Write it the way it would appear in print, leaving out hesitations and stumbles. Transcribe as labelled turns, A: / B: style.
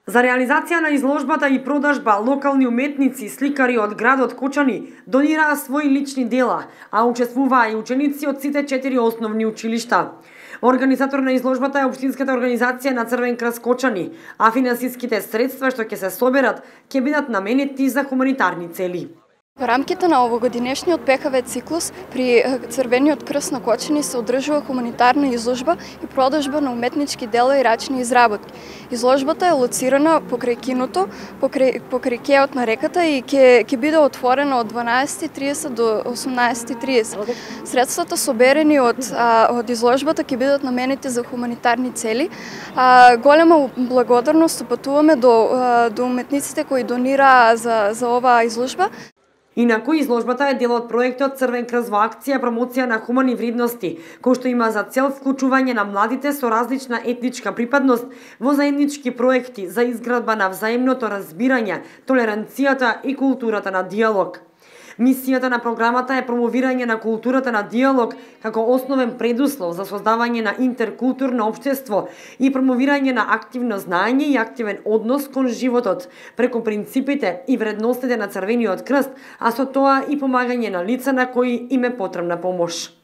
A: За реализација на изложбата и продажба, локални уметници и сликари од градот Кочани донираа свои лични дела, а учествуваа и ученици од сите 4 основни училишта. Организатор на изложбата е Општинската организација на Црвен крст Кочани, а финансиските средства што ќе се соберат ќе бидат наменети за хуманитарни цели.
B: Во рамките на овогодинешниот ПКВ циклус при Црвениот крст на Кочани се одржува хуманитарна изложба и продажба на уметнички дела и рачни изработки. Изложбата е лоцирана покрај киното, покрај кеот на реката и ќе биде отворена од 12:30 до 18:30. Средствата соберени од изложбата ќе бидат наменети за хуманитарни цели. Голема благодарност упатуваме до уметниците кои донираа за оваа изложба.
A: Инаку изложбата е дел од проектот Црвен крст во акција промоција на хумани вредности, кој што има за цел вклучување на младите со различна етничка припадност во заеднички проекти за изградба на взаимното разбирање, толеранцијата и културата на диалог. Мисијата на програмата е промовирање на културата на диалог како основен предуслов за создавање на интеркултурно општество и промовирање на активно знаење и активен однос кон животот преку принципите и вредностите на Црвениот крст, а со тоа и помагање на лица на кои им е потребна помош.